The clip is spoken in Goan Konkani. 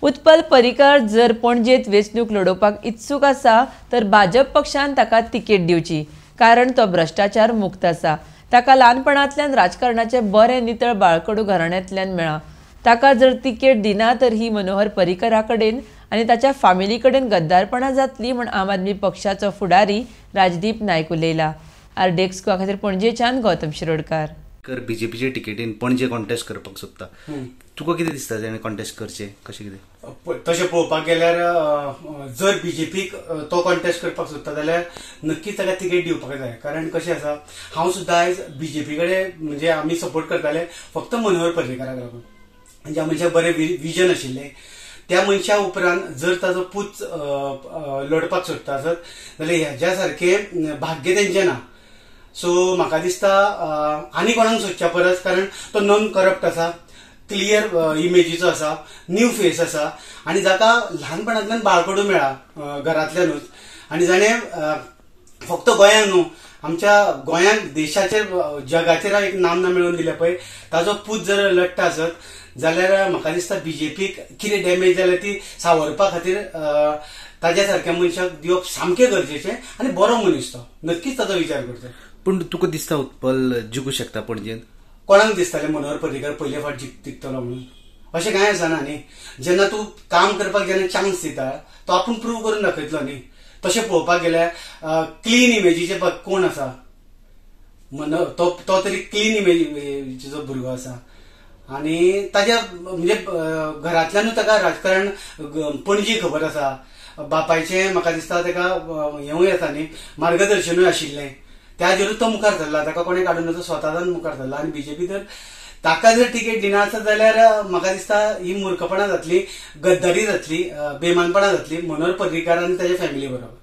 उत्पल पर्रीकार जर पणजेत वेंचणूक लडोवपाक इत्सूक आसा तर भाजप पक्षान ताका तिकेट दिवची, कारण तो भ्रश्टाचार मुक्त आसा. ताका ल्हानपणांतल्यान राजकारणाचें बरें नितळ बाळकडू घराण्यांतल्यान मेळ्ळां. ताका जर तिकेट दिना तर ही मनोहर पर्रीकरा कडेन आनी ताच्या फामिली कडेन गद्दारपणां जातली म्हूण आम आदमी पक्षाचो फुडारी राजदीप नायक उलयला. आरडीएक्स गोवा खातीर पणजेच्यान गौतम शिरोडकार. बीजेपीचे टिकेटीन पणजे कॉन्टेस्ट करपाक सोदता, तुका कितें दिसता तेणें कॉन्टेस्ट करचें कशें कितें? तशें पळोवपाक गेल्यार जर बीजेपीक तो कॉन्टेस्ट करपाक सोदता जाल्यार नक्कीच ताका तिकेट दिवपाक जाय. कारण कशें आसा, हांव सुद्दां आयज बीजेपी कडेन म्हणजे आमी सपोर्ट करताले फक्त मनोहर पर्रीकाराक लागून, ज्या मनशाक बरें विजन आशिल्लें त्या मनशा उपरांत जर ताजो पूत लडपाक सोदता आसत जाल्यार ह्याच्या सारकें भाग्य तेंचें ना. सो म्हाका दिसता आनी कोणाक सोदच्या परस, कारण तो नॉन करप्ट आसा, क्लियर इमेजीचो आसा, न्यू फेस आसा आनी जाका ल्हानपणांतल्यान बाळकडू मेळ्ळा घरांतल्यानूच आनी जाणें फक्त गोंयांक न्हू आमच्या गोंयांक देशाचेर जगाचेर एक नामना मेळोवन दिल्या पळय, ताजो पूत जर लडटा आसत जाल्यार म्हाका दिसता बीजेपीक कितें डॅमेज जाल्या ती सावरपा खातीर ताज्या सारक्या मनशाक दिवप सामकें गरजेचें आनी बरो मनीस तो, नक्कीच ताजो विचार करचो. पूण तुका दिसता उत्पल जिखूं शकता पणजेन? कोणाक दिसतालें मनोहर पर्रीकार पयले फावट जिखतलो म्हणून? अशें कांय आसना न्ही. जेन्ना तूं काम करपाक जेन्ना चान्स दिता तो आपूण प्रूव करून दाखयतलो न्ही. तशें पळोवपाक गेल्यार क्लीन इमेजीचे कोण आसा, तो तरी क्लीन इमेजीचो भुरगो आसा आनी ताज्या म्हणजे घरांतल्यानूच ताका राजकारण पणजी खबर आसा. बापायचें म्हाका दिसता ताका हेंवूय आसा न्ही, मार्गदर्शनूय आशिल्लें, त्याचेरूच तो मुखार सरला, ताका कोणें काडून तो स्वताच्यान मुखार सरला. आनी बीजेपी जर ताका जर तिकेट दिना आसत जाल्यार म्हाका दिसता ही मूर्खपणां जातली, गद्दारी जातली, बेमानपणां जातली मनोहर पर्रीकार आनी ताच्या फॅमिली बरोबर.